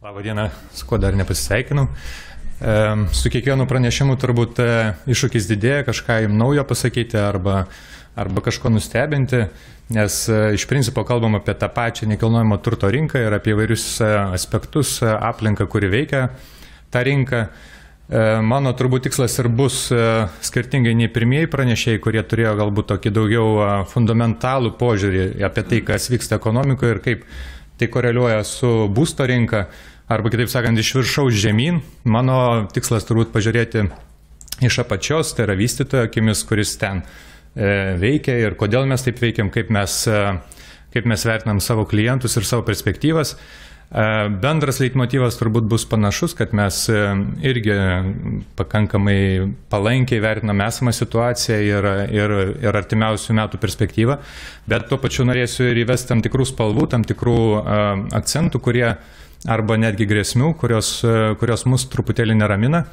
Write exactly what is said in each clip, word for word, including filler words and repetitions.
Labą dieną, su kuo dar nepasisveikinau. Su kiekvienu pranešimu turbūt iššūkis didėja, kažką jums naujo pasakyti arba, arba kažko nustebinti, nes iš principo kalbam apie tą pačią nekilnojamo turto rinką ir apie įvairius aspektus, aplinką, kuri veikia tą rinką. Mano turbūt tikslas ir bus skirtingai nei pirmieji pranešėjai, kurie turėjo galbūt tokį daugiau fundamentalų požiūrį apie tai, kas vyksta ekonomikoje ir kaip tai koreliuoja su būsto rinka, arba kitaip sakant, iš viršaus žemyn. Mano tikslas turbūt pažiūrėti iš apačios, tai yra vystytojo akimis, kuris ten veikia ir kodėl mes taip veikiam, kaip mes, kaip mes vertinam savo klientus ir savo perspektyvas. Bendras leitmotyvas turbūt bus panašus, kad mes irgi pakankamai palankiai vertinam esamą situaciją ir, ir, ir artimiausių metų perspektyvą, bet tuo pačiu norėsiu ir įvesti tam tikrų spalvų, tam tikrų akcentų, kurie arba netgi grėsmių, kurios, kurios mus truputėlį neramina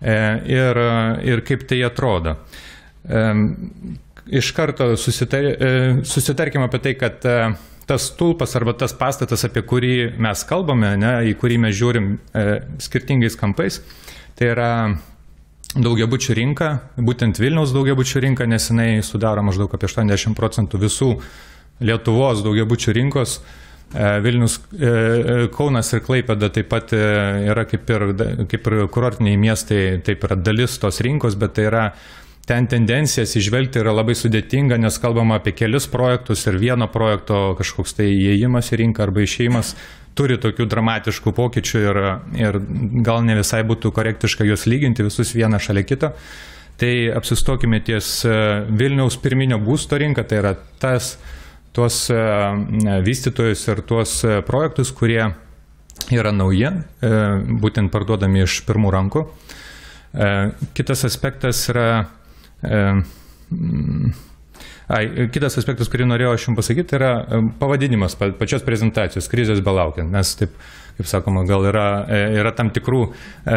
ir, ir kaip tai atrodo. Iš karto susitar, susitarkime apie tai, kad tas stulpas arba tas pastatas, apie kurį mes kalbame, ne, į kurį mes žiūrim e, skirtingais kampais, tai yra daugiabučių rinka, būtent Vilniaus daugiabučių rinka, nes jinai sudaro maždaug apie aštuoniasdešimt procentų visų Lietuvos daugiabučių rinkos. E, Vilnius, e, Kaunas ir Klaipėda taip pat e, yra kaip ir, kaip ir kurortiniai miestai, taip yra dalis tos rinkos, bet tai yra ten tendencijas išvelgti yra labai sudėtinga, nes kalbama apie kelis projektus ir vieno projekto kažkoks tai įėjimas į rinką arba išėjimas turi tokių dramatiškų pokyčių ir, ir gal ne visai būtų korektiška juos lyginti visus vieną šalia kito. Tai apsistokime ties Vilniaus pirminio būsto rinką, tai yra tas, tuos vystytojus ir tuos projektus, kurie yra nauji, būtent parduodami iš pirmų rankų. Kitas aspektas yra Ai, kitas aspektas, kurį norėjau aš jums pasakyti, yra pavadinimas pačios prezentacijos, krizės belaukiant. Nes, taip, kaip sakoma, gal yra, yra tam tikrų e,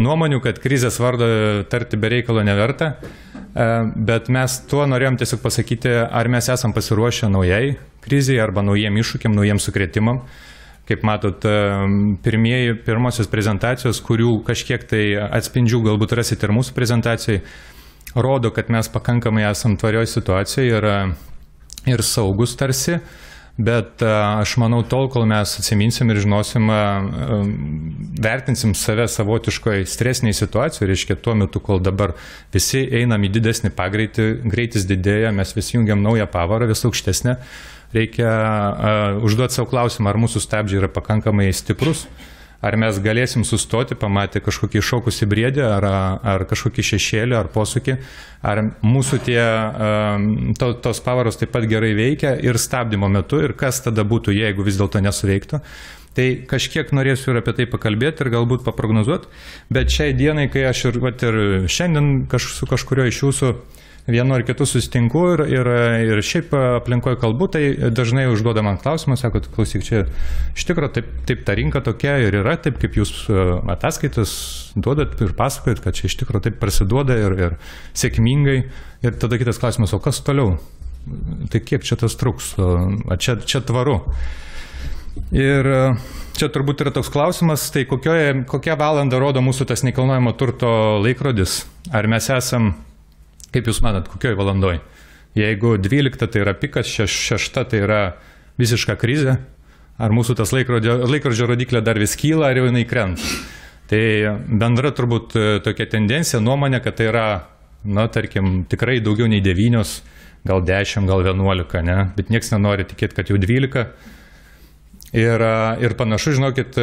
nuomonių, kad krizės vardo tarti be reikalo neverta, e, bet mes tuo norėjom tiesiog pasakyti, ar mes esam pasiruošę naujai krizai arba naujiem iššūkiam, naujiem sukrėtimam. Kaip matot, pirmieji, pirmosios prezentacijos, kurių kažkiek tai atspindžių galbūt rasite ir mūsų prezentacijai, rodo, kad mes pakankamai esam tvarioj situacijoje ir, ir saugus tarsi, bet aš manau, tol, kol mes atsiminsim ir žinosim, vertinsim save savotiškoj stresiniai situacijoje, reiškia tuo metu, kol dabar visi einam į didesnį pagreitį, greitis didėja, mes vis jungiam naują pavarą, vis aukštesnę. Reikia uh, užduoti savo klausimą, ar mūsų stabdžiai yra pakankamai stiprus, ar mes galėsim sustoti, pamatę kažkokį šokusį briedį, ar, ar kažkokį šešėlį, ar posūkį, ar mūsų tie, uh, to, tos pavaros taip pat gerai veikia ir stabdymo metu, ir kas tada būtų, jeigu vis dėlto nesuveiktų. Tai kažkiek norėsiu ir apie tai pakalbėti ir galbūt paprognozuoti, bet šiai dienai, kai aš ir, vat, ir šiandien kaž, su kažkurio iš jūsų vienu ar kitu susitinku ir, ir, ir šiaip aplinkoje kalbu, tai dažnai užduoda man klausimą, sako, klausyk, čia iš tikrųjų taip, taip ta rinka tokia ir yra, taip kaip jūs ataskaitas duodat ir pasakojat, kad čia iš tikrųjų taip prasiduoda ir, ir sėkmingai. Ir tada kitas klausimas, o kas toliau? Tai kiek čia tas truks? Čia, čia tvaru. Ir čia turbūt yra toks klausimas, tai kokioje, kokią valandą rodo mūsų tas nekilnojamo turto laikrodis? Ar mes esam, kaip jūs matot, kokioj valandoj? Jeigu dvylikta tai yra pikas, šeš, šešta tai yra visiška krizė, ar mūsų tas laikrodžio, laikrodžio rodiklė dar vis kyla, ar jau jinai krenta? Tai bendra turbūt tokia tendencija, nuomonė, kad tai yra, na, tarkim, tikrai daugiau nei devynios, gal dešimt, gal vienuolika, ne? Bet nieks nenori tikėti, kad jau dvylika. Ir, ir panašu, žinokit,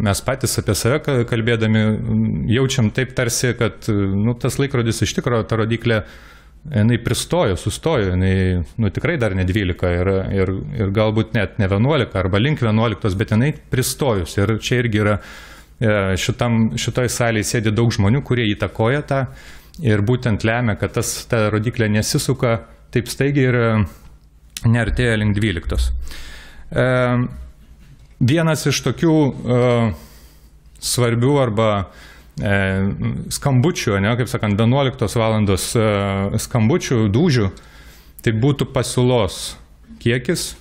mes patys apie save kalbėdami jaučiam taip tarsi, kad nu, tas laikrodis iš tikrųjų, ta rodiklė, jinai pristojo, sustojo, jinai nu, tikrai dar ne dvylika ir, ir, ir galbūt net ne vienuolika arba link vienuoliktos, bet jinai pristojus. Ir čia irgi yra, šitam, šitoj salėje sėdi daug žmonių, kurie įtakoja tą ir būtent lemia, kad tas, ta rodiklė nesisuka taip staigiai ir neartėja link dvyliktos. E, Vienas iš tokių uh, svarbių arba e, skambučių, ne, kaip sakant, vienuoliktos valandos uh, skambučių, dūžių, tai būtų pasiūlos kiekis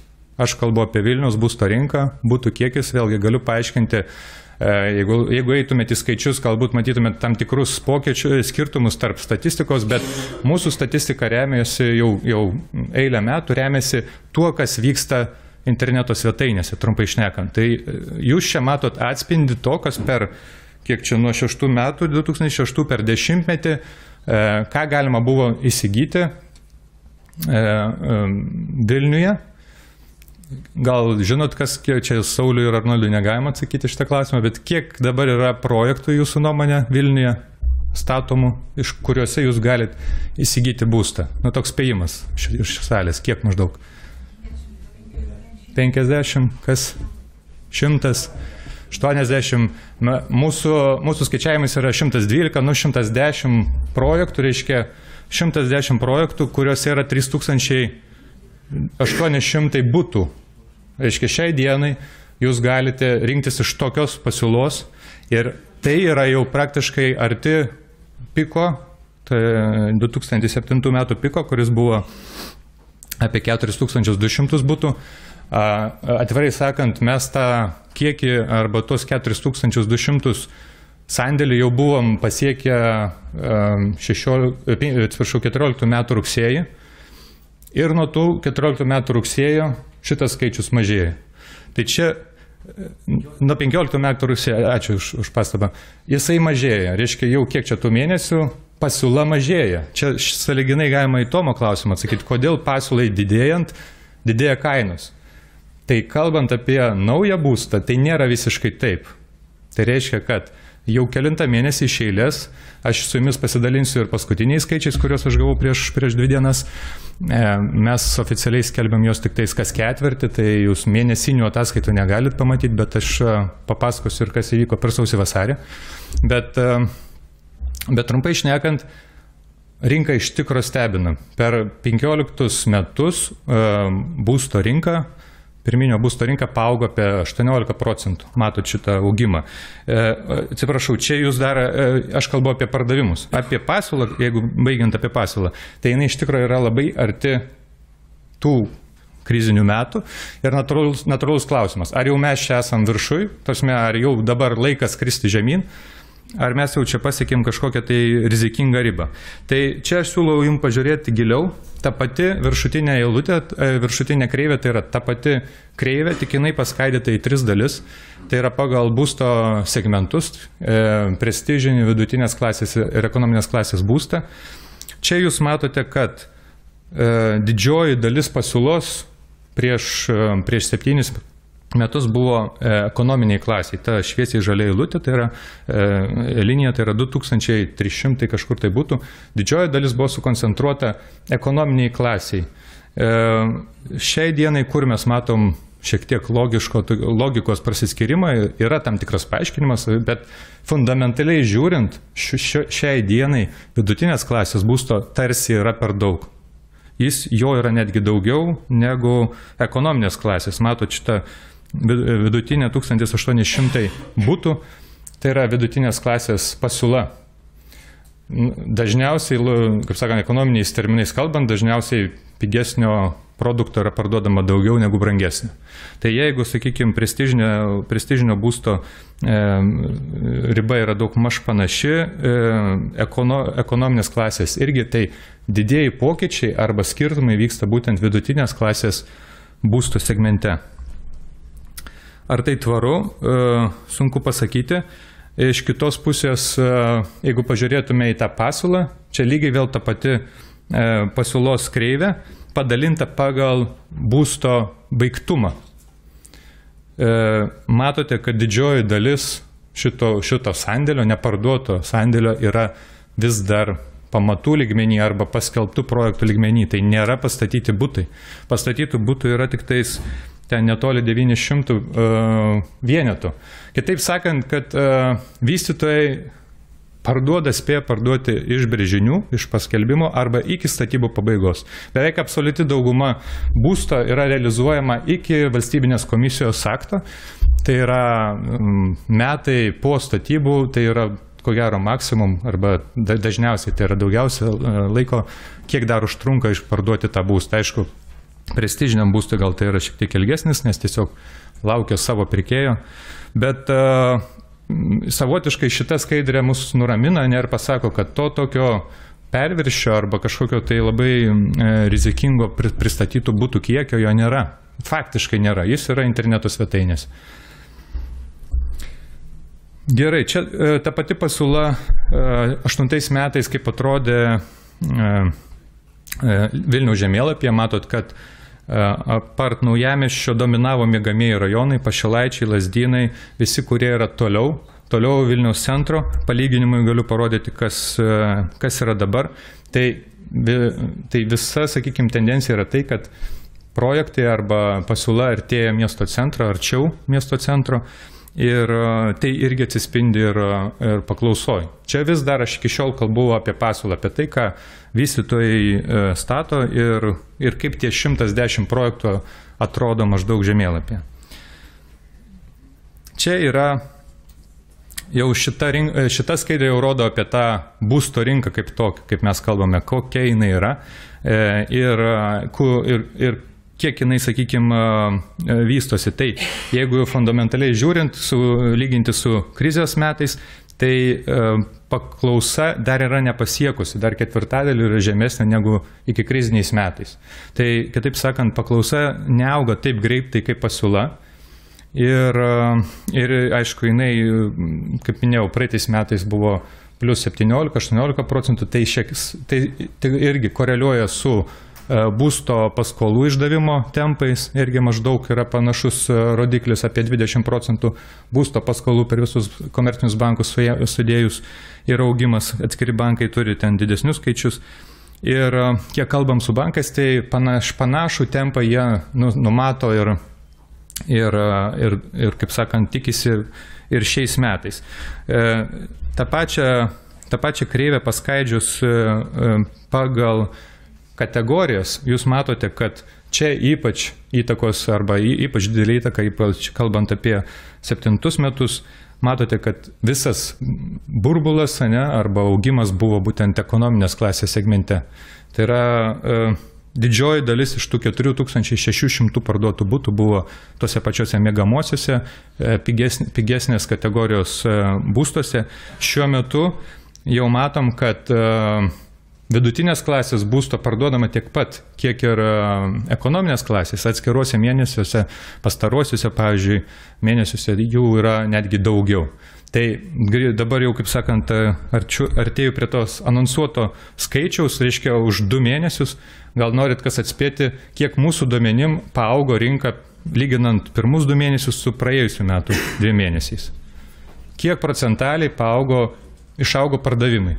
aš kalbu apie Vilniaus būsto rinką, būtų kiekis, vėlgi galiu paaiškinti, jeigu, jeigu eitumėte į skaičius, galbūt matytumėte tam tikrus pokyčius, skirtumus tarp statistikos, bet mūsų statistika remiasi jau, jau eilę metų, remiasi tuo, kas vyksta interneto svetainėse, trumpai šnekant. Tai jūs čia matot atspindi to, kas per, kiek čia nuo šeštų metų, du tūkstančiai šeštų per dešimtmetį, ką galima buvo įsigyti Vilniuje. Gal žinot, kas, čia Sauliui ir Arnoldui negalima atsakyti šitą klausimą, bet kiek dabar yra projektų jūsų nuomonė Vilniuje statomų, iš kuriuose jūs galite įsigyti būstą? Nu, toks spėjimas iš salės, kiek maždaug? penkiasdešimt, kas? šimtas, aštuoniasdešimt. Mūsų, mūsų skaičiavimas yra šimtas dvylika, nu šimtas dešimt projektų, reiškia šimtas dešimt projektų, kuriuose yra trys tūkstančiai aštuoni šimtai butų. Reiškia, šiai dienai jūs galite rinktis iš tokios pasiūlos ir tai yra jau praktiškai arti piko, tai du tūkstančiai septintų metų piko, kuris buvo apie keturis tūkstančius du šimtus butų. Atvirai sakant, mes tą kiekį arba tos keturis tūkstančius du šimtus sandėlį jau buvom pasiekę keturioliktų metų rugsėjį ir nuo tų keturioliktų metų rugsėjo šitas skaičius mažėja. Tai čia nuo penkioliktų metų rugsėjo, ačiū už, už pastabą, jisai mažėja, reiškia jau kiek čia tų mėnesių pasiūla mažėja. Čia sąlyginai galima į Tomo klausimą atsakyti, kodėl pasiūlai didėjant, didėja kainos. Tai kalbant apie naują būstą, tai nėra visiškai taip. Tai reiškia, kad jau kelintą mėnesį iš eilės, aš su jumis pasidalinsiu ir paskutiniais skaičiais, kuriuos aš gavau prieš, prieš dvi dienas. Mes oficialiai skelbiam jos tik tais kas ketvirtį, tai jūs mėnesinių ataskaitų negalit pamatyti, bet aš papasakosiu ir kas įvyko per sausį vasarį. Bet, bet trumpai šnekant, rinka iš tikro stebina. Per penkioliktus metus būsto rinka Pirminio būsto rinka paaugo apie aštuoniolika procentų. Matot šitą augimą. Atsiprašau, čia jūs dar, aš kalbu apie pardavimus. Apie pasiūlą, jeigu baigiant apie pasiūlą, tai jinai iš tikrųjų yra labai arti tų krizinių metų. Ir natūralus, natūralus klausimas, ar jau mes čia esam viršui, tasme, ar jau dabar laikas kristi žemyn, ar mes jau čia pasiekėm kažkokią tai rizikingą ribą. Tai čia aš siūlau jums pažiūrėti giliau. Ta pati viršutinė eilutė, viršutinė kreivė, tai yra ta pati kreivė, tik jinai paskaidyta į tris dalis. Tai yra pagal būsto segmentus, prestižinį, vidutinės klasės ir ekonominės klasės būstą. Čia jūs matote, kad didžioji dalis pasiūlos prieš, prieš septynis metus buvo ekonominiai klasiai. Ta šviesiai žalia eilutė, tai yra e, linija, tai yra du tūkstančiai trys šimtai kažkur tai būtų. Didžioji dalis buvo sukoncentruota ekonominiai klasiai. E, šiai dienai, kur mes matom šiek tiek logiško, logikos prasiskirimą, yra tam tikras paaiškinimas, bet fundamentaliai žiūrint, ši, šiai dienai vidutinės klasės būsto tarsi yra per daug. Jis jo yra netgi daugiau negu ekonominės klasės. Matot šitą vidutinė tūkstantis aštuoni šimtai būtų, tai yra vidutinės klasės pasiūla. Dažniausiai, kaip sakant, ekonominiais terminais kalbant, dažniausiai pigesnio produkto yra parduodama daugiau negu brangesnio. Tai jeigu, sakykime, prestižinio, prestižinio būsto e, riba yra daug maž panaši, e, ekono, ekonominės klasės irgi, tai didieji pokyčiai arba skirtumai vyksta būtent vidutinės klasės būsto segmente. Ar tai tvaru? Sunku pasakyti. Iš kitos pusės, jeigu pažiūrėtume į tą pasiūlą, čia lygiai vėl ta pati pasiūlos kreivė, padalinta pagal būsto baigtumą. Matote, kad didžioji dalis šito, šito sandėlio, neparduoto sandėlio yra vis dar pamatų lygmenį arba paskelbtų projektų lygmenį. Tai nėra pastatyti butai. Pastatytų butų yra tik tais ten netoli devyni šimtai uh, vienetų. Kitaip sakant, kad uh, vystytojai parduoda, spėja parduoti iš brėžinių, iš paskelbimo arba iki statybų pabaigos. Beveik absoliuti dauguma būsto yra realizuojama iki valstybinės komisijos akto. Tai yra um, metai po statybų, tai yra ko gero maksimum, arba dažniausiai tai yra daugiausia laiko, kiek dar užtrunka išparduoti tą būstą. Aišku, prestižiniam būstui gal tai yra šiek tiek ilgesnis, nes tiesiog laukia savo pirkėjo. Bet uh, savotiškai šita skaidrė mus nuramina, ne, ir pasako, kad to tokio perviršio arba kažkokio tai labai e, rizikingo pristatytų būtų kiekio jo nėra. Faktiškai nėra. Jis yra interneto svetainės. Gerai, čia e, ta pati pasiūla e, aštuntais metais, kaip atrodė e, e, Vilniaus žemėlapyje, matot, kad e, apart Naujamiesčio dominavo miegamieji rajonai, Pašilaičiai, Lazdynai, visi, kurie yra toliau. Toliau Vilniaus centro, palyginimui galiu parodyti, kas, kas yra dabar. Tai, tai visa, sakykime, tendencija yra tai, kad projektai arba pasiūla artėja miesto centro, arčiau miesto centro, ir tai irgi atsispindi ir, ir paklausoj. Čia vis dar aš iki šiol kalbu apie pasiūlą, apie tai, ką vystytojai stato ir, ir kaip tie šimtas dešimt projektų atrodo maždaug žemėlapyje. Čia yra jau šita, rink, šita skaidrė jau rodo apie tą būsto rinką kaip tokį, kaip mes kalbame, kokia jinai yra ir, ir, ir kiek jinai, sakykime, vystosi. Tai jeigu fundamentaliai žiūrint, su, lyginti su krizės metais, tai paklausa dar yra nepasiekusi, dar ketvirtadaliu yra žemesnė negu iki kriziniais metais. Tai, kitaip sakant, paklausa neauga taip greitai kaip pasiūla. Ir, ir aišku, jinai, kaip minėjau, praeitais metais buvo plus septyniolika aštuoniolika procentų, tai, šiek, tai, tai irgi koreliuoja su būsto paskolų išdavimo tempais, irgi maždaug yra panašus rodiklis apie dvidešimt procentų būsto paskolų per visus komercinius bankus sudėjus ir augimas, atskiri bankai turi ten didesnius skaičius. Ir kiek kalbam su bankais, tai panaš, panašų tempą jie nu, numato ir Ir, ir, ir, kaip sakant, tikisi ir šiais metais. E, tą pačią, tą pačią kreivę paskaidžius e, pagal kategorijas, jūs matote, kad čia ypač įtakos arba ypač didelį įtaką, ypač kalbant apie septintus metus, matote, kad visas burbulas, ne, arba augimas buvo būtent ekonominės klasės segmente. Tai yra e, didžioji dalis iš tų keturių tūkstančių šešių šimtų parduotų butų buvo tose pačiose miegamosiose, pigesnės, pigesnės kategorijos būstuose. Šiuo metu jau matom, kad vidutinės klasės būsto parduodama tiek pat, kiek ir ekonominės klasės. Atskiruose mėnesiuose, pastarosiuose, pavyzdžiui, mėnesiuose jų yra netgi daugiau. Tai dabar jau, kaip sakant, arčiu, artėju prie tos anonsuoto skaičiaus, reiškia už du mėnesius. Gal norit kas atspėti, kiek mūsų duomenim paaugo rinka, lyginant pirmus du mėnesius su praėjusiu metu dviem mėnesiais. Kiek procentaliai paaugo, išaugo pardavimai?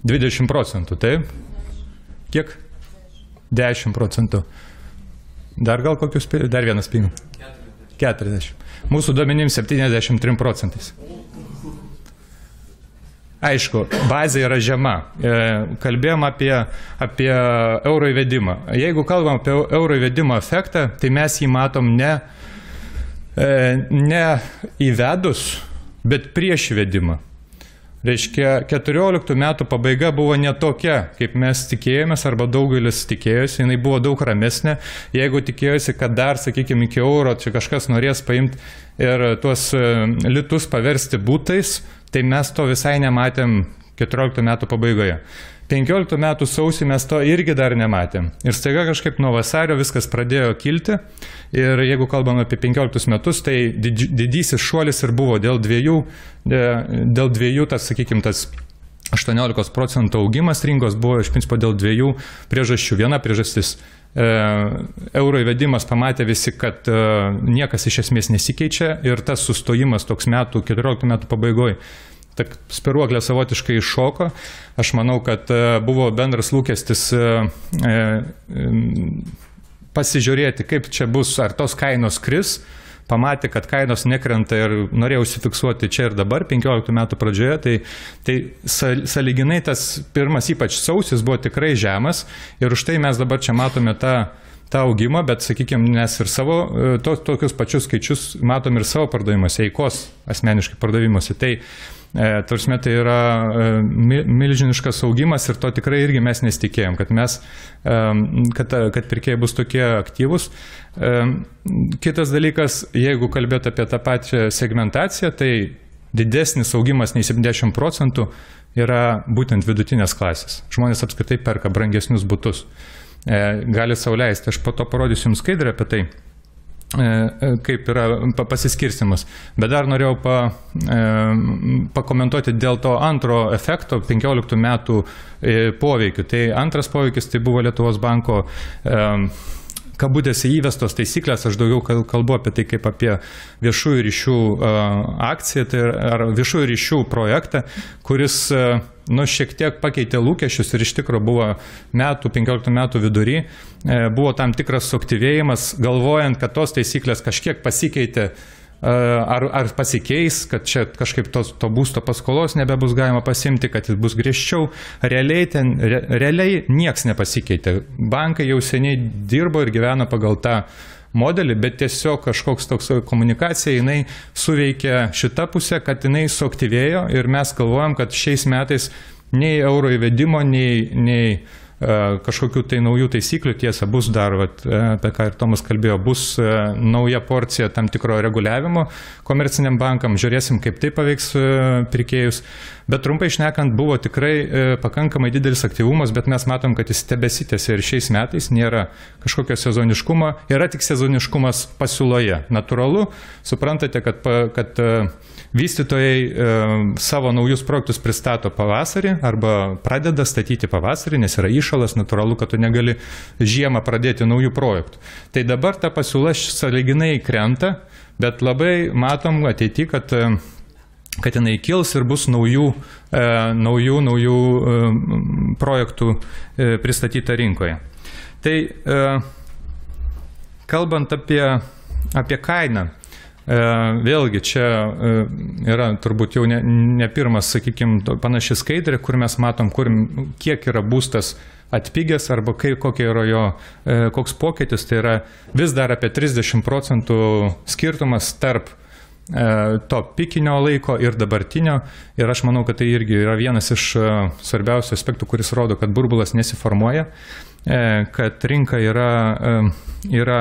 dvidešimt procentų, taip? Kiek? dešimt procentų. Dar gal kokius, dar vienas spėjim? keturiasdešimt. Mūsų duomenim septyniasdešimt trim procentais. Aišku, bazė yra žema. Kalbėjom apie, apie euro įvedimą. Jeigu kalbam apie euro įvedimo efektą, tai mes jį matom ne, ne įvedus, bet prieš įvedimą. Reiškia, keturioliktų metų pabaiga buvo ne tokia, kaip mes tikėjomės, arba daugelis tikėjosi, jinai buvo daug ramesnė. Jeigu tikėjosi, kad dar, sakykime, iki euro čia kažkas norės paimti ir tuos litus paversti būtais, tai mes to visai nematėm keturioliktų metų pabaigoje. penkioliktų metų sausį mes to irgi dar nematėm. Ir staiga kažkaip nuo vasario viskas pradėjo kilti. Ir jeigu kalbam apie penkioliktus metus, tai didysis šuolis ir buvo dėl dviejų, dėl dviejų tas, sakykime, tas aštuoniolikos procentų augimas rinkos buvo iš principo dėl dviejų priežasčių. Viena priežastis e, euro įvedimas, pamatė visi, kad e, niekas iš esmės nesikeičia ir tas sustojimas toks metų, keturioliktų metų pabaigoje, spiruoklė savotiškai iššoko. Aš manau, kad buvo bendras lūkestis pasižiūrėti, kaip čia bus, ar tos kainos kris. Pamatė, kad kainos nekrenta ir norėjo užsifiksuoti čia ir dabar, penkioliktų metų pradžioje. Tai, tai sąlyginai tas pirmas, ypač sausis, buvo tikrai žemas. Ir už tai mes dabar čia matome tą tą augimą, bet, sakykime, nes ir savo, to, tokius pačius skaičius matom ir savo pardavimuose, eikos asmeniškai pardavimuose. Tai, e, tarsi, tai yra e, milžiniškas augimas ir to tikrai irgi mes nesitikėjom, kad, mes, e, kad, kad pirkėjai bus tokie aktyvus. E, kitas dalykas, jeigu kalbėt apie tą pačią segmentaciją, tai didesnis augimas nei septyniasdešimt procentų yra būtent vidutinės klasės. Žmonės apskritai perka brangesnius butus. Gali sau leisti. Aš po to parodysiu jums skaidrę apie tai, kaip yra pasiskirstimas. Bet dar norėjau pa, pakomentuoti dėl to antro efekto, penkioliktų metų poveikių. Tai antras poveikis tai buvo Lietuvos banko kabutėse įvestos taisyklės, aš daugiau kalbu apie tai kaip apie viešųjų ryšių akciją, tai ar viešųjų ryšių projektą, kuris nu, šiek tiek pakeitė lūkesčius ir iš tikrųjų buvo metų, penkioliktų metų vidury, buvo tam tikras suaktyvėjimas, galvojant, kad tos taisyklės kažkiek pasikeitė, ar, ar pasikeis, kad čia kažkaip tos, to būsto paskolos nebebus galima pasimti, kad jis bus griežčiau. Realiai, ten, re, realiai nieks nepasikeitė. Bankai jau seniai dirbo ir gyveno pagal tą modelį, bet tiesiog kažkoks toks komunikacija, jinai suveikė šitą pusę, kad jinai suaktyvėjo ir mes galvojam, kad šiais metais nei euro įvedimo, nei, nei kažkokių tai naujų taisyklių, tiesa, bus dar, vat, apie ką ir Tomas kalbėjo, bus nauja porcija tam tikro reguliavimo komerciniam bankam, žiūrėsim, kaip tai paveiks pirkėjus. Bet trumpai šnekant, buvo tikrai pakankamai didelis aktyvumas, bet mes matom, kad jis tebesitęsia ir šiais metais, nėra kažkokio sezoniškumo, yra tik sezoniškumas pasiūloje. Natūralu, suprantate, kad, kad vystytojai e, savo naujus projektus pristato pavasarį arba pradeda statyti pavasarį, nes yra įšalas, natūralu, kad tu negali žiemą pradėti naujų projektų. Tai dabar ta pasiūla sąlyginai krenta, bet labai matom ateityje, kad, kad jinai kils ir bus naujų, e, naujų, naujų e, projektų e, pristatyta rinkoje. Tai e, kalbant apie, apie kainą, vėlgi čia yra turbūt jau ne, ne pirmas, sakykime, panaši skaidrė, kur mes matom, kur, kiek yra būstas atpigęs arba kai, kokia yra jo, koks pokytis, tai yra vis dar apie trisdešimt procentų skirtumas tarp to pikinio laiko ir dabartinio. Ir aš manau, kad tai irgi yra vienas iš svarbiausių aspektų, kuris rodo, kad burbulas nesiformuoja, kad rinka yra, yra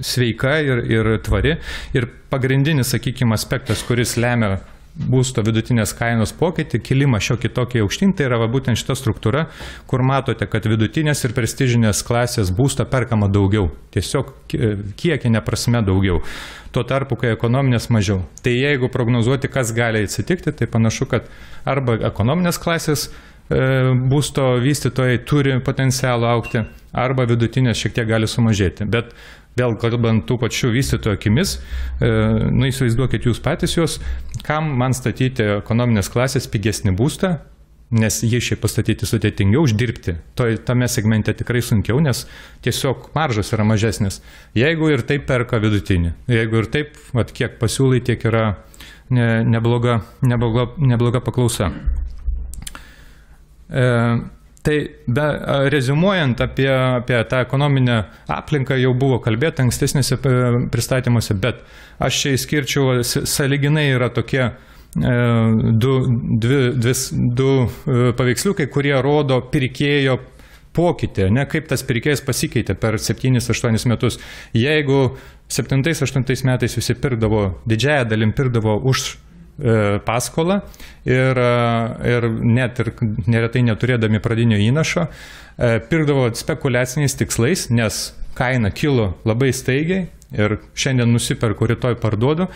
sveika ir, ir tvari. Ir pagrindinis, sakykime, aspektas, kuris lemia būsto vidutinės kainos pokytį, kilimą šiokį tokį aukštyn, tai yra va, būtent šita struktūra, kur matote, kad vidutinės ir prestižinės klasės būsto perkama daugiau. Tiesiog kiekinė prasme daugiau. Tuo tarpu, kai ekonominės mažiau. Tai jeigu prognozuoti, kas gali atsitikti, tai panašu, kad arba ekonominės klasės būsto vystytojai turi potencialą aukti, arba vidutinės šiek tiek gali sumažėti. Bet vėl kalbant tų pačių vystytojų akimis, nu įsivaizduokit jūs patys juos, kam man statyti ekonominės klasės pigesnį būstą, nes jį šiaip pastatyti sudėtingiau, uždirbti. To, tame segmente tikrai sunkiau, nes tiesiog maržas yra mažesnis. Jeigu ir taip perka vidutinį, jeigu ir taip, vat, kiek pasiūlai, tiek yra ne, nebloga, nebloga, nebloga paklausa. E, tai be, reziumuojant apie, apie tą ekonominę aplinką jau buvo kalbėta ankstesnėse pristatymuose, bet aš čia įskirčiau, sąlyginai yra tokie e, du, dvi, dvi, du paveiksliukai, kurie rodo pirkėjo pokytį, ne, kaip tas pirkėjas pasikeitė per septynis aštuonis metus. Jeigu septintais aštuntais metais visi pirkdavo, didžiąją dalim pirkdavo už paskolą ir, ir net ir neretai neturėdami pradinio įnašo, pirkdavo spekuliaciniais tikslais, nes kaina kilo labai staigiai ir šiandien nusiperku, rytoj parduodu.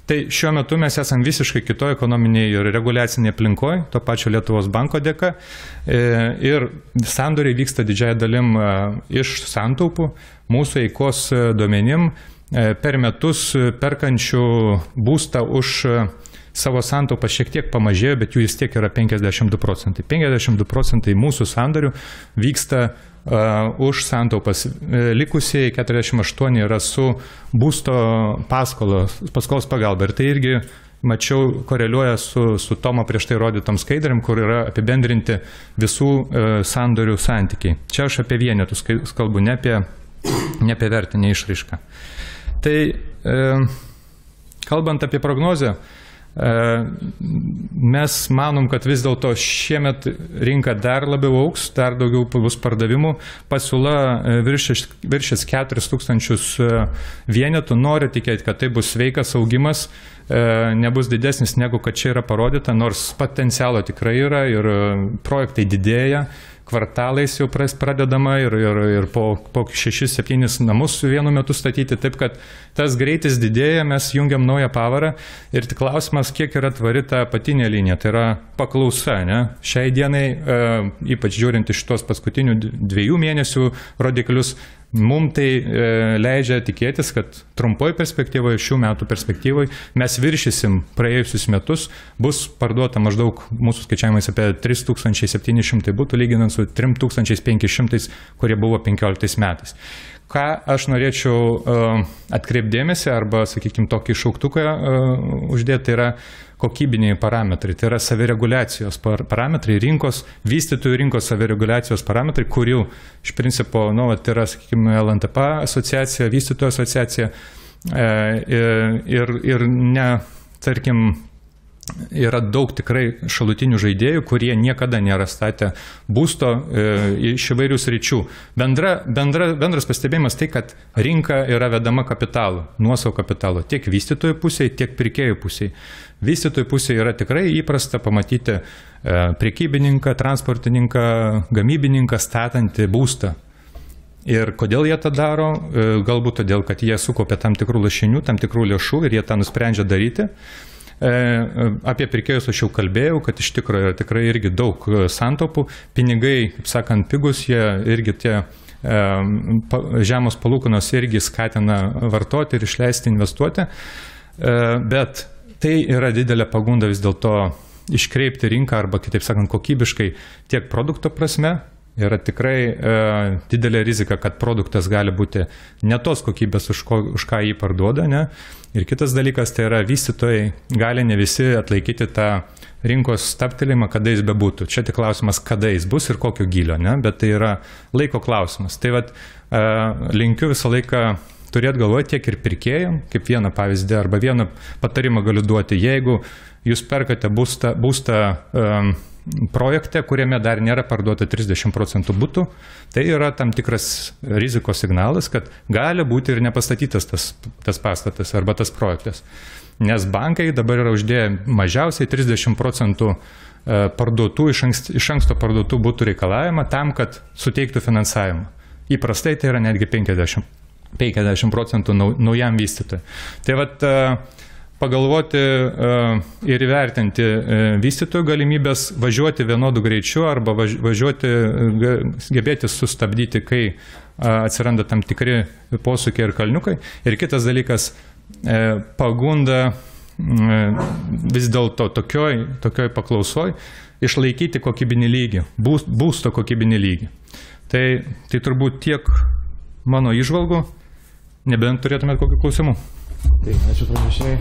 Tai šiuo metu mes esam visiškai kitoje ekonominėje ir reguliacinėje aplinkoje, to pačio Lietuvos banko dėka, ir sandoriai vyksta didžiąją dalim iš santaupų, mūsų eikos duomenim per metus perkančių būstą už savo santaupas šiek tiek pamažėjo, bet jų vis tiek yra penkiasdešimt du procentai. penkiasdešimt du procentai mūsų sandorių vyksta uh, už santaupas. Likusieji keturiasdešimt aštuoni yra su būsto paskolos, paskolos pagalba. Ir tai irgi mačiau, koreliuoja su, su Tomo prieš tai rodytom skaidrėm, kur yra apibendrinti visų e, sandorių santykiai. Čia aš apie vienetus kalbu, ne apie, ne apie vertinę išraišką. Tai e, kalbant apie prognozę, mes manom, kad vis dėlto šiemet rinka dar labiau augs, dar daugiau bus pardavimų, pasiūla viršys keturis tūkstančius vienetų, noriu tikėti, kad tai bus sveikas augimas, nebus didesnis negu kad čia yra parodyta, nors potencialo tikrai yra ir projektai didėja, kvartalais jau pradedama ir, ir, ir po, po šešis septynis namus vienu metu statyti, taip kad tas greitis didėja, mes jungiam naują pavarą ir tik klausimas, kiek yra tvari ta apatinė linija, tai yra paklausa, ne? Šiai dienai, e, ypač žiūrint iš tos paskutinių dviejų mėnesių rodiklius, mums tai e, leidžia tikėtis, kad trumpoj perspektyvoje, šių metų perspektyvoje mes viršysim praėjusius metus, bus parduota maždaug mūsų skaičiavimais apie tris tūkstančiai septyni šimtai būtų, lyginant su trim tūkstančiais penkiais šimtais, kurie buvo penkioliktais metais. Ką aš norėčiau uh, atkreipdėmėsi arba, sakykime, tokį šauktuką uh, uždėti, tai yra kokybiniai parametrai, tai yra savireguliacijos parametrai, rinkos, vystytojų rinkos savireguliacijos parametrai, kurių iš principo, nu, tai yra, sakykime, L N T P asociacija, vystytojų asociacija e, ir, ir ne, tarkim, yra daug tikrai šalutinių žaidėjų, kurie niekada nėra statę būsto e, iš įvairių sričių. Bendra, bendra, bendras pastebėjimas tai, kad rinka yra vedama kapitalu, nuosavo kapitalo, tiek vystytojų pusėje, tiek pirkėjų pusėje. Vystytojų pusėje yra tikrai įprasta pamatyti e, prekybininką, transportininką, gamybininką statantį būstą. Ir kodėl jie tą daro? E, galbūt todėl, kad jie sukaupė tam tikrų lašinių, tam tikrų lėšų ir jie tą nusprendžia daryti. Apie pirkėjus aš jau kalbėjau, kad iš tikrųjų yra tikrai irgi daug santaupų. Pinigai, kaip sakant, pigus, jie irgi tie žemos palūkanos irgi skatina vartoti ir išleisti, investuoti. Bet tai yra didelė pagunda vis dėlto iškreipti rinką arba, kitaip sakant, kokybiškai tiek produkto prasme. Yra tikrai e, didelė rizika, kad produktas gali būti ne tos kokybės, už, ko, už ką jį parduoda. Ne? Ir kitas dalykas, tai yra vystytojai gali ne visi atlaikyti tą rinkos stabtelėjimą, kada jis bebūtų. Čia tik klausimas, kada jis bus ir kokio gylio, ne? Bet tai yra laiko klausimas. Tai vat, e, linkiu visą laiką turėti galvoje tiek ir pirkėjim, kaip vieną pavyzdį arba vieną patarimą galiu duoti. Jeigu jūs perkate būstą, būstą um, projekte, kuriame dar nėra parduota trisdešimt procentų butų, tai yra tam tikras rizikos signalas, kad gali būti ir nepastatytas tas, tas pastatas arba tas projektas. Nes bankai dabar yra uždėję mažiausiai trisdešimt procentų parduotų, iš anksto, iš anksto parduotų butų reikalavimą tam, kad suteiktų finansavimą. Įprastai tai yra netgi penkiasdešimt procentų naujam vystytojui. Tai vat, pagalvoti ir įvertinti vystytojų galimybės važiuoti vienodų greičiu arba važiuoti, gebėti sustabdyti, kai atsiranda tam tikri posūkiai ir kalniukai. Ir kitas dalykas, pagunda vis dėlto tokioj, tokioj paklausoj išlaikyti kokybinį lygį, būsto kokybinį lygį. Tai, tai turbūt tiek mano įžvalgų, nebent turėtumėt kokių klausimų. Tai, ačiū pranešėjai.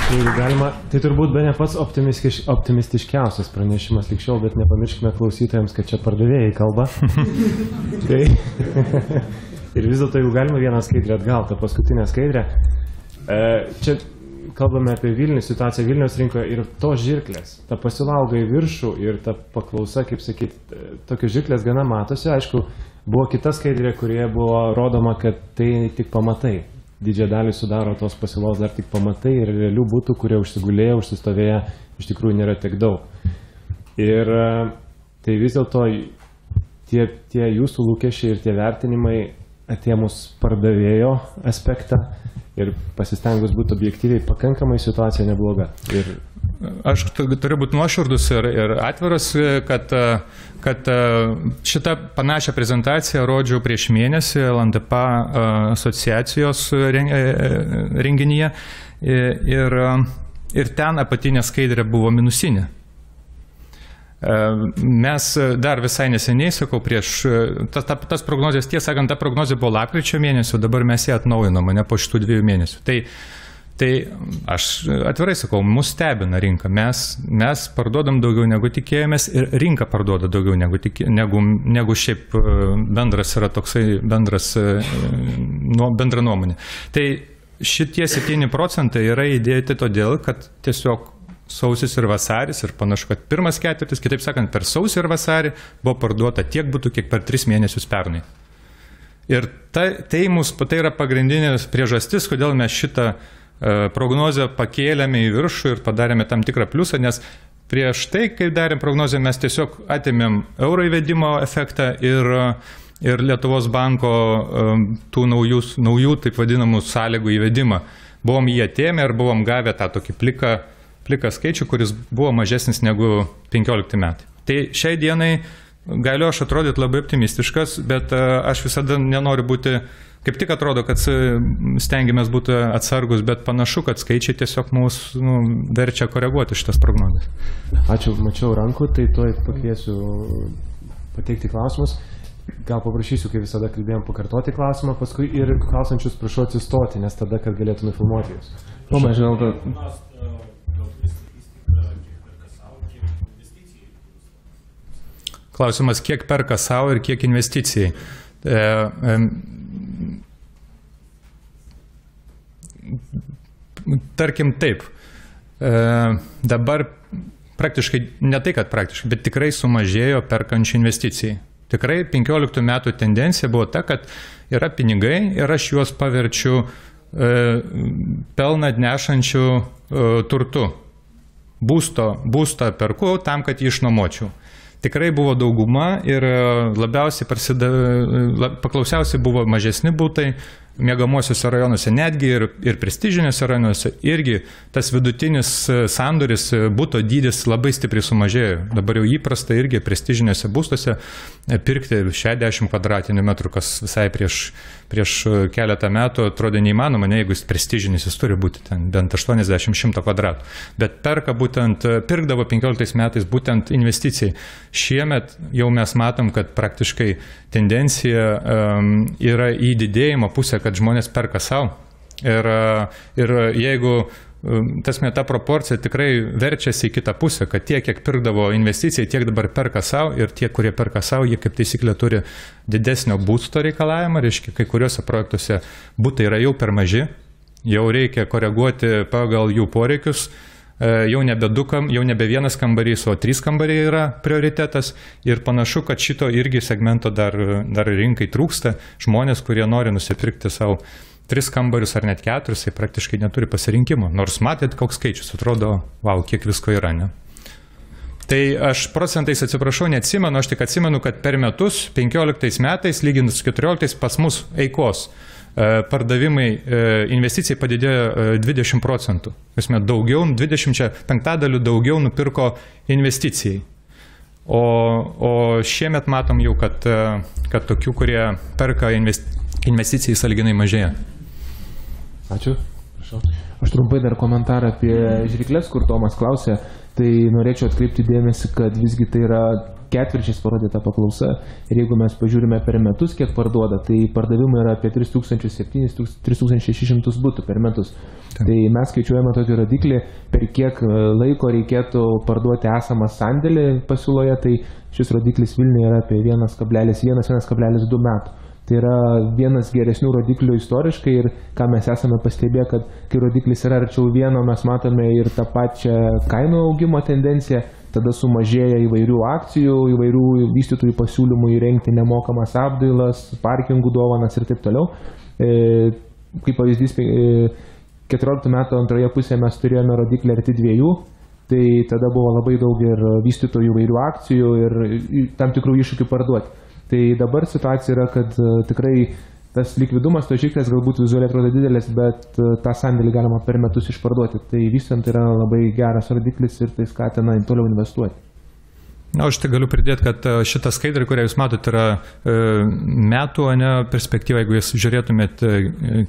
Jeigu galima, tai turbūt be ne pats optimistiškiausias pranešimas lik šiol, bet nepamirškime klausytojams, kad čia pardavėjai kalba. Tai, ir vis dėlto, jeigu galima vieną skaidrę atgal, tą paskutinę skaidrę. Čia kalbame apie Vilnių, situaciją Vilniaus rinkoje ir tos žirklės. Ta pasilauga į viršų ir ta paklausa, kaip sakyti, tokios žirklės gana matosi. Aišku, buvo kita skaidrė, kurioje buvo rodoma, kad tai tik pamatai. Didžiąją dalį sudaro tos pasiūlos dar tik pamatai ir realių būtų, kurie užsigulėję, užsistovėję, iš tikrųjų nėra tiek daug. Ir tai vis dėlto tie, tie jūsų lūkesčiai ir tie vertinimai atėmus pardavėjo aspektą ir pasistengus būti objektyviai, pakankamai situacija nebloga. Ir aš turiu būti nuoširdus ir, ir atviras, kad, kad šitą panašią prezentaciją rodžiau prieš mėnesį L N T P asociacijos renginyje ir, ir ten apatinė skaidrė buvo minusinė. Mes dar visai neseniai, sakau, prieš tas, tas prognozijas, tiesą sakant, ta prognozija buvo lapkričio mėnesio, dabar mes ją atnaujinome, ne po šitų dviejų mėnesių. Tai, tai aš atvirai sakau, mus stebina rinka. Mes, mes parduodam daugiau negu tikėjomės ir rinka parduoda daugiau negu, tikė, negu, negu šiaip bendras yra toksai bendras, nu, bendra nuomonė. Tai šitie septyni procentai yra įdėti todėl, kad tiesiog sausis ir vasaris ir panašu, kad pirmas ketvirtis, kitaip sakant, per sausį ir vasarį buvo parduota tiek būtų, kiek per tris mėnesius pernai. Ir ta, tai, mus, tai yra pagrindinės priežastis, kodėl mes šitą e, prognozę pakėlėme į viršų ir padarėme tam tikrą pliusą, nes prieš tai, kai darėm prognozę, mes tiesiog atėmėm euro įvedimo efektą ir, ir Lietuvos banko e, tų naujų, naujų, taip vadinamų, sąlygų įvedimą. Buvom jį atėmę ir buvom gavę tą tokį pliką pliką skaičių, kuris buvo mažesnis negu penkiolikti metai. Tai šiai dienai galiu aš atrodyti labai optimistiškas, bet aš visada nenoriu būti, kaip tik atrodo, kad stengiamės būti atsargus, bet panašu, kad skaičiai tiesiog mūsų nu, verčia koreguoti šitas prognozes. Ačiū, mačiau rankų, tai tuoj pakviesiu pateikti klausimus. Gal paprašysiu, kaip visada kalbėjom, pakartoti klausimą, paskui ir klausančius prašau atsistoti, nes tada, kad galėtume filmuoti jūs. O, aš gal kad... Klausimas, kiek perka savo ir kiek investicijai. E, e, tarkim taip, e, dabar praktiškai, ne tai, kad praktiškai, bet tikrai sumažėjo perkančių investicijai. Tikrai penkioliktų metų tendencija buvo ta, kad yra pinigai ir aš juos paverčiu e, pelną nešančių e, turtu. Būsto, būstą perku tam, kad jį išnuomočiau. Tikrai buvo dauguma ir labiausiai prasidė, paklausiausiai buvo mažesni būtai, miegamuosiuose rajonuose, netgi ir, ir prestižiniuose rajonuose, irgi tas vidutinis sandoris, būto dydis labai stipriai sumažėjo. Dabar jau įprasta irgi prestižiniuose būstuose pirkti šešiasdešimt kvadratinių metrų, kas visai prieš, prieš keletą metų atrodė neįmanoma, ne, jeigu jis prestižinis, jis turi būti ten bent aštuoniasdešimt šimto kvadratų. Bet perka būtent, pirkdavo penkioliktais metais būtent investicijai. Šiemet jau mes matom, kad praktiškai tendencija um, yra į didėjimo pusę, kad žmonės perka savo. Ir, ir jeigu tasme, ta proporcija tikrai verčiasi į kitą pusę, kad tie, kiek pirkdavo investicijai, tiek dabar perka savo ir tie, kurie perka savo, jie kaip taisyklė turi didesnio būsto reikalavimą, reiškia, kai kuriuose projektuose būtai yra jau per maži, jau reikia koreguoti pagal jų poreikius. Jau nebe, du, jau nebe vienas kambarys, o trys kambariai yra prioritetas ir panašu, kad šito irgi segmento dar, dar rinkai trūksta. Žmonės, kurie nori nusipirkti savo tris kambarius ar net keturis, tai praktiškai neturi pasirinkimo. Nors matėt, koks skaičius, atrodo, wow, kiek visko yra, ne? Tai aš procentais atsiprašau, neatsimenu, aš tik atsimenu, kad per metus, penkioliktais metais, lyginant su keturioliktais, pas mus eikos pardavimai investicijai padidėjo dvidešimt procentų. Esmė, daugiau, dvidešimt penktadalių daugiau nupirko investicijai. O, o šiemet matom jau, kad, kad tokių, kurie perka investicijai sąlyginai mažėja. Ačiū. Prašau. Aš trumpai dar komentarą apie žirkles, kur Tomas klausė. Tai norėčiau atkreipti dėmesį, kad visgi tai yra ketvirčiais parodyta paklausa. Ir jeigu mes pažiūrime per metus, kiek parduoda, tai pardavimai yra apie tris tūkstančius septynis - tris tūkstančius šešis šimtus butų per metus. Taip. Tai mes skaičiuojame tokį rodiklį, per kiek laiko reikėtų parduoti esamą sandėlį pasiūloje, tai šis rodiklis Vilniuje yra apie vienas kablelis vienas - vienas kablelis du metų. Tai yra vienas geresnių rodiklių istoriškai ir ką mes esame pastebėję, kad kai rodiklis yra arčiau vieno, mes matome ir tą pačią kainų augimo tendenciją, tada sumažėja įvairių akcijų, įvairių vystytojų pasiūlymų įrengti nemokamas apdailas, parkingų dovanas ir taip toliau. E, kaip pavyzdys, keturioliktų metų antroje pusėje mes turėjome rodiklį arti dviejų, tai tada buvo labai daug ir vystytojų įvairių akcijų ir tam tikrų iššūkių parduoti. Tai dabar situacija yra, kad uh, tikrai tas likvidumas, to žirklės galbūt vizualiai atrodo didelis, bet uh, tą sandėlį galima per metus išparduoti. Tai vystant yra labai geras rodiklis ir tai skatina toliau investuoti. Na, aš tai galiu pridėti, kad šitą skaidrį, kurią jūs matote, yra e, metų, ne perspektyva, jeigu jūs žiūrėtumėt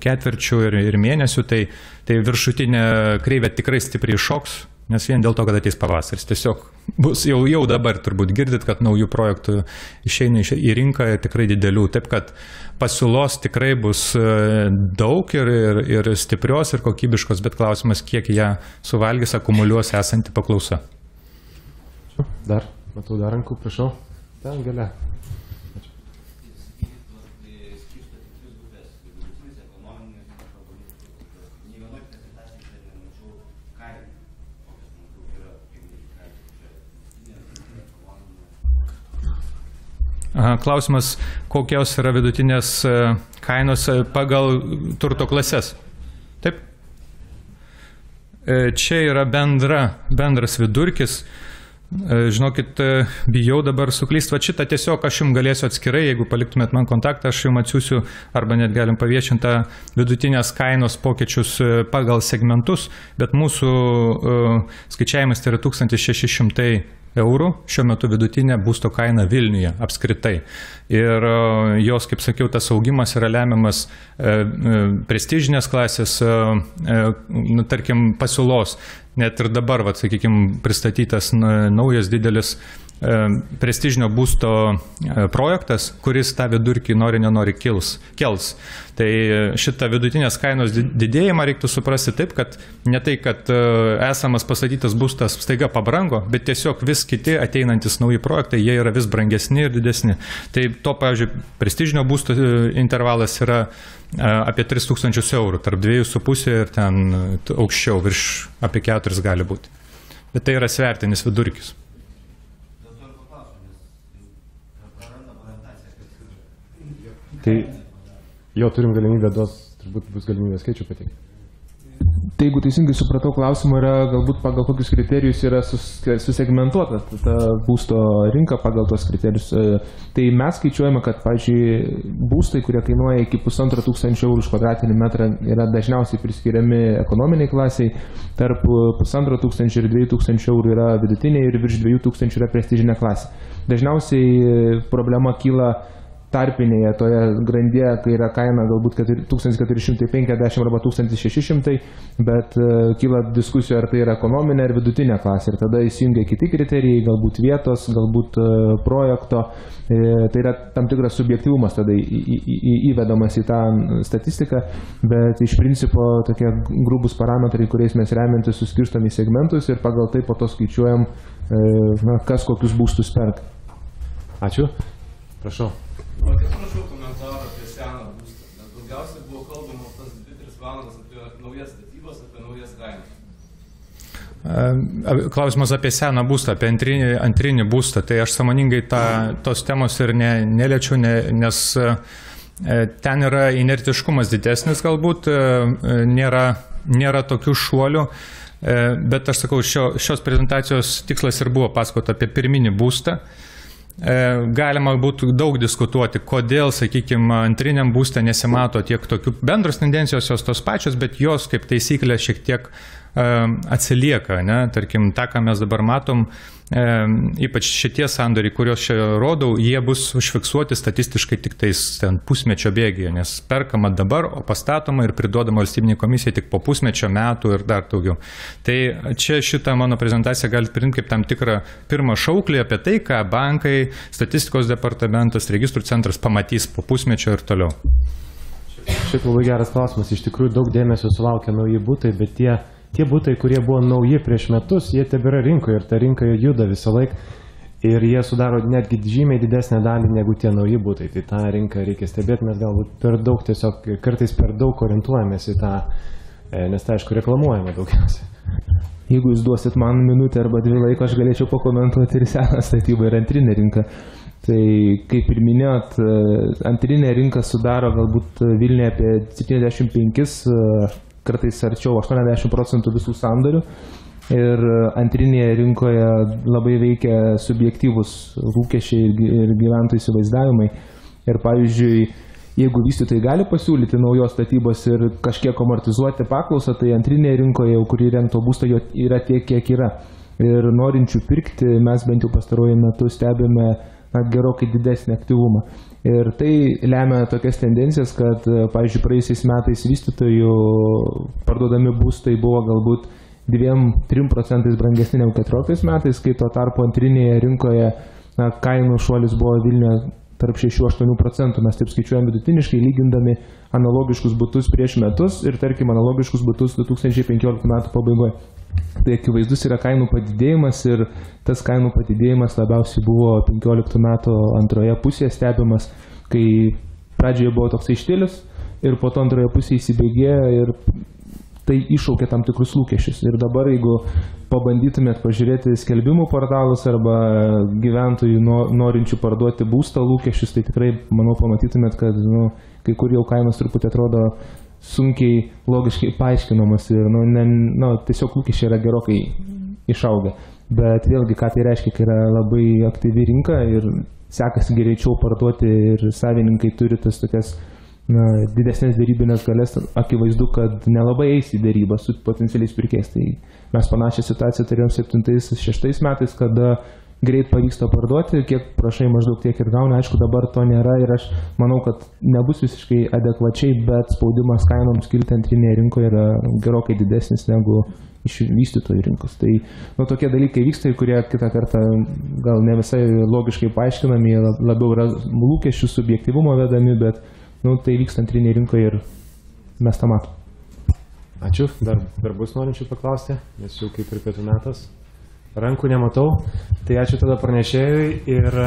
ketvirčių ir, ir mėnesių, tai, tai viršutinė kreivė tikrai stipriai šoks. nes vien dėl to, kad ateis pavasaris. Tiesiog bus jau, jau dabar turbūt girdit, kad naujų projektų išeina į rinką tikrai didelių, taip kad pasiūlos tikrai bus daug ir, ir, ir stiprios, ir kokybiškos, bet klausimas, kiek ją suvalgys, akumuliuos esanti paklausa. Dar, matau dar rankų, prašau. Ten galia. Klausimas, kokios yra vidutinės kainos pagal turto klases. Taip. Čia yra bendra, bendras vidurkis. Žinokit, bijau dabar suklysti. Va šitą tiesiog aš jums galėsiu atskirai, jeigu paliktumėt man kontaktą, aš jums atsiųsiu arba net galim paviešintą vidutinės kainos pokyčius pagal segmentus, bet mūsų skaičiavimas tai yra tūkstantis šeši šimtai eurų, šiuo metu vidutinė būsto kaina Vilniuje apskritai. Ir jos, kaip sakiau, tas augimas yra lemiamas prestižinės klasės, nu, tarkim, pasiūlos. Net ir dabar, vat, sakykime, pristatytas naujas didelis prestižinio būsto projektas, kuris tą vidurkį nori, nenori kils, kels. Tai šitą vidutinės kainos didėjimą reiktų suprasti taip, kad ne tai, kad esamas pastatytas būstas staiga pabrango, bet tiesiog vis kiti ateinantis nauji projektai, jie yra vis brangesni ir didesni. Tai to, pavyzdžiui, prestižinio būsto intervalas yra apie tris tūkstančius eurų, tarp dviejų su pusė ir ten aukščiau, virš apie keturis gali būti. Bet tai yra svertinis vidurkis. Tai jo turim galimybę duos, turbūt bus galimybė skaičių pateikti. Tai jeigu teisingai supratau, klausimą yra galbūt pagal kokius kriterijus yra susegmentuota ta būsto rinka pagal tos kriterijus. Tai mes skaičiuojame, kad, pavyzdžiui, būstai, kurie kainuoja iki pusantro tūkstančio eurų už kvadratinį metrą, yra dažniausiai priskiriami ekonominiai klasiai, tarp pusantro tūkstančio ir dviejų tūkstančių eurų yra vidutiniai ir virš dviejų tūkstančių yra prestižinė klasė. Dažniausiai problema kyla tarpinėje toje grandyje, kai yra kaina galbūt tūkstantis keturi šimtai penkiasdešimt arba tūkstantis šeši šimtai, bet uh, kyla diskusijų, ar tai yra ekonominė ar vidutinė klasė. Ir tada įsijungia kiti kriterijai, galbūt vietos, galbūt uh, projekto. E, tai yra tam tikras subjektyvumas tada į, į, į, įvedamas į tą statistiką, bet iš principo tokie grubus parametrai, kuriais mes remiantis suskirstom į segmentus ir pagal tai po to skaičiuojam, e, na, kas kokius būstus perka. Ačiū. Prašau. O kaip prašau komentarą apie seną būstą, nes daugiausiai buvo kalbama tas dvi tris valandas apie naujas statybas, apie naujas kainas. Klausimas apie seną būstą, apie antrinį, antrinį būstą, tai aš sąmoningai tą, tos temos ir ne, neliečiu, ne, nes ten yra inertiškumas didesnis galbūt, nėra, nėra tokių šuolių, bet aš sakau, šio, šios prezentacijos tikslas ir buvo pasakoti apie pirminį būstą. Galima būtų daug diskutuoti, kodėl, sakykime, antriniam būste nesimato tiek tokių bendros tendencijos, jos tos pačios, bet jos kaip taisyklė šiek tiek atsilieka, ne? Tarkim, tą, ką mes dabar matom, e, ypač šitie sandoriai, kuriuos čia rodau, jie bus užfiksuoti statistiškai tik tais ten pusmečio bėgyje, nes perkama dabar, o pastatoma ir priduodama valstybiniai komisijai tik po pusmečio metų ir dar daugiau. Tai čia šitą mano prezentaciją galite priimti kaip tam tikrą pirmą šauklį apie tai, ką bankai, statistikos departamentas, registrų centras pamatys po pusmečio ir toliau. Šiaip labai geras klausimas. Iš tikrųjų daug dėmesio sulaukia nauji būtai, bet tie Tie būtai, kurie buvo nauji prieš metus, jie tebėra rinkoje ir ta rinka juda visą laiką ir jie sudaro netgi žymiai didesnę dalį negu tie nauji būtai. Tai tą rinką reikia stebėti, mes galbūt per daug tiesiog, kartais per daug orientuojamės į tą, nes tai aišku reklamuojama daugiausiai. Jeigu jūs duosit man minutę arba dvi laiko, aš galėčiau pakomentuoti ir seną statybą ir antrinę rinką. Tai kaip ir minėjot, antrinė rinka sudaro galbūt Vilniuje apie septyniasdešimt penkis kartais arčiau aštuoniasdešimt procentų visų sandorių ir antrinėje rinkoje labai veikia subjektyvus lūkesčiai ir gyventojų įsivaizdavimai. Ir pavyzdžiui, jeigu vystytojai gali pasiūlyti naujos statybos ir kažkiek amortizuoti paklausą, tai antrinėje rinkoje, kuri rengto būsto, yra tiek, kiek yra. Ir norinčių pirkti mes bent jau pastaruoju metu stebime na, gerokai didesnį aktyvumą. Ir tai lemia tokias tendencijas, kad, pavyzdžiui, praėjusiais metais vystytojų parduodami būstai buvo galbūt dviem trim procentais brangesni negu keturioliktais metais, kai tuo tarpu antrinėje rinkoje na, kainų šuolis buvo Vilniuje tarp šešių aštuonių procentų. Mes taip skaičiuojam vidutiniškai, lygindami analogiškus butus prieš metus ir, tarkim, analogiškus butus du tūkstančiai penkioliktų metų pabaigoje. Tai akivaizdus yra kainų padidėjimas ir tas kainų padidėjimas labiausiai buvo penkioliktų metų antroje pusėje stebimas, kai pradžioje buvo toks štilis ir po to antroje pusėje įsibėgėjo ir tai iššaukė tam tikrus lūkesčius. Ir dabar, jeigu pabandytumėt pažiūrėti skelbimų portalus arba gyventojų norinčių parduoti būstą lūkesčius, tai tikrai, manau, pamatytumėt, kad nu, kai kur jau kainos truputį atrodo sunkiai logiškai paaiškinamas ir nu, ne, nu, tiesiog lūkesčiai yra gerokai išaugę. Bet vėlgi, ką tai reiškia, kai yra labai aktyvi rinka ir sekasi greičiau parduoti ir savininkai turi tas tokias na, didesnės dėrybinės galės, akivaizdu, kad nelabai eis į dėrybą su potencialiais pirkėjais. Tai mes panašią situaciją turėjom septintais šeštais metais, kada greit pavyksta parduoti, kiek prašai maždaug tiek ir gauni. Aišku, dabar to nėra ir aš manau, kad nebus visiškai adekvačiai, bet spaudimas kainoms kilti antrinėje rinkoje yra gerokai didesnis negu iš vystytojų rinkos. Tai nu, tokie dalykai vyksta, kurie kitą kartą gal ne visai logiškai paaiškinami, labiau yra lūkesčių subjektyvumo vedami, bet nu, tai vyksta antrinėje rinkoje ir mes tą matom. Ačiū. Dar, dar bus norinčių paklausti, nes jau kaip ir pietų metas. Rankų nematau. Tai ačiū tada pranešėjui ir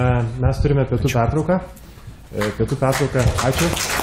mes turime pietų pertrauką. Pietų pertrauką. Ačiū.